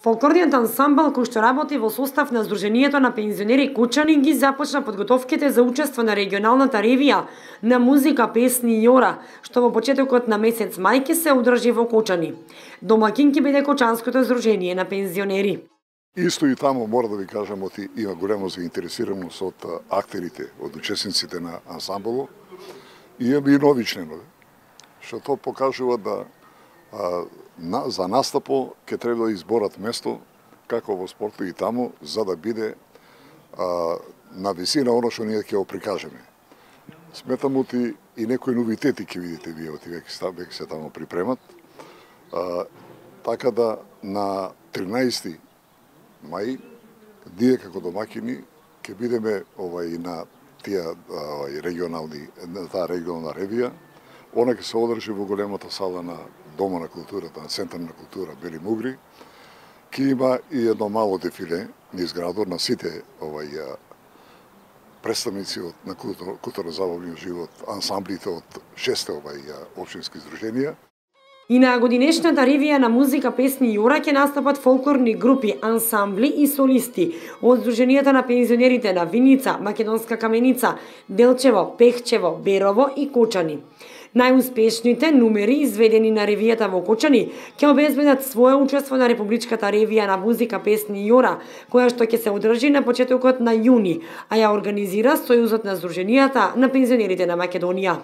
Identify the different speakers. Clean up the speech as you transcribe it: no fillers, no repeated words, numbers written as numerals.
Speaker 1: Фолклорниот ансамбл кој што работи во состав на Сдруженијето на пензионери Кучани ги започна подготовките за учество на регионалната ревија на музика, песни и ора, што во почетокот на месец мај ќе се одржи во Кучани. Домаќин ќе биде Кочанското Сдружение на пензионери.
Speaker 2: Исто и таму мора да ви кажам оти има голема заинтересираност од актерите, од учесниците на ансамблот и имаме и нови членови, што то покажува да за настапо ќе треба да изборат место, како во спортот и таму, за да биде на висина оно што ние ќе го прикажеме. Сметам оти и некои новитети ќе видите вие, оти веќе се таму припремат. Така да на 13 мај, ние како домаќини ќе бидеме на таа регионална ревија. Она ќе се одржи во големата сала на Дома на културата, на Центар на култура Бели Мугри. Ќе има и едно мало дефиле низ градот на сите представници на културно-забавниот живот, ансамблите од 6 општински здруженија.
Speaker 1: И на годинешната ревија на музика, песни и ора ќе настапат фолклорни групи, ансамбли и солисти од Сдруженијата на пензионерите на Виница, Македонска Каменица, Делчево, Пехчево, Берово и Кочани. Најуспешните numeri изведени на ревијата во Кочани ќе обезбедат свое учество на Републичката ревија на музика, песни и ора, која што ќе се одржи на почетокот на јуни, а ја организира Сојузот на Сдруженијата на пензионерите на Македонија.